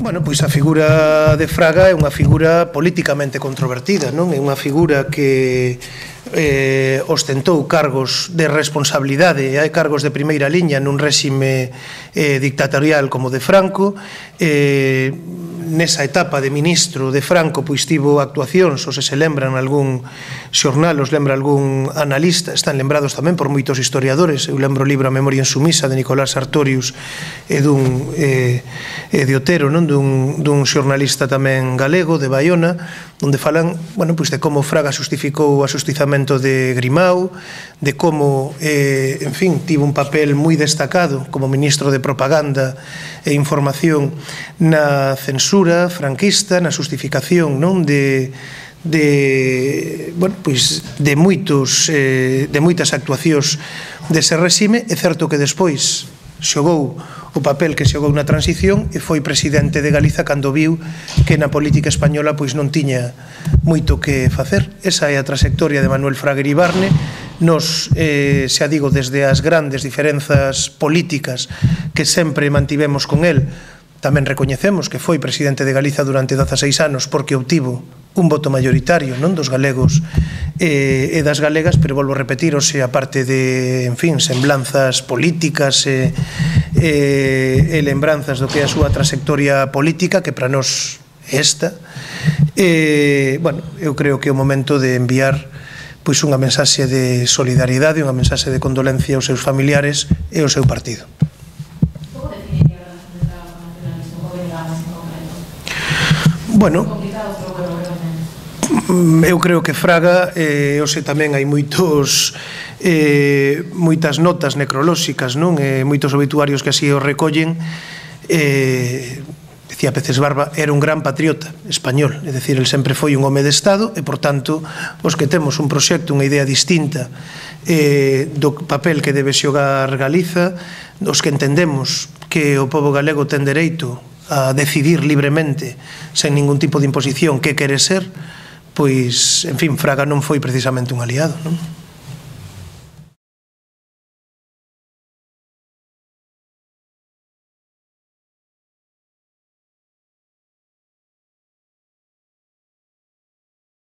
Bueno, pois a figura de Fraga é unha figura políticamente controvertida, non? É unha figura que ostentou cargos de responsabilidade, hai cargos de primeira liña nun réxime dictatorial como de Franco. Nesa etapa de ministro de Franco pois tivo actuacións, ou se lembran algún xornal, os lembra algún analista, están lembrados tamén por moitos historiadores. Eu lembro o libro A memoria insumisa de Nicolás Sartorius e de Otero, non? Dun xornalista tamén galego de Baiona, onde falan, bueno, pois de como Fraga xustificou o axustizamento de Grimao, de como, en fin, tivo un papel moi destacado como ministro de propaganda e información na censura franquista, na xustificación, non, de moitas actuacións dese réxime. É certo que despois xogou o papel que xogou na transición e foi presidente de Galiza cando viu que na política española pois non tiña moito que facer. Esa é a trayectoria de Manuel Fraga Iribarne. Nos, xa digo, desde as grandes diferenzas políticas que sempre mantivemos con el, tamén recoñecemos que foi presidente de Galiza durante 16 anos porque obtivo un voto mayoritario, non, dos galegos e das galegas, pero volvo a repetir, o sea, aparte de, en fin, semblanzas políticas e lembranzas do que é a súa trayectoria política, que para nós é esta, bueno, eu creo que é o momento de enviar pois unha mensaxe de solidariedade, unha mensaxe de condolencia aos seus familiares e ao seu partido. Bueno, eu creo que Fraga, hoxe tamén hai moitas notas necrolóxicas, non? Moitos obituarios que así o recollen. Decía Peces Barba, era un gran patriota español, é dicir, el sempre foi un home de Estado e, por tanto, os que temos un proxecto, unha idea distinta do papel que debe xogar Galiza, os que entendemos que o pobo galego ten dereito a decidir libremente, sen ningún tipo de imposición, que quere ser, pois, en fin, Fraga non foi precisamente un aliado, non?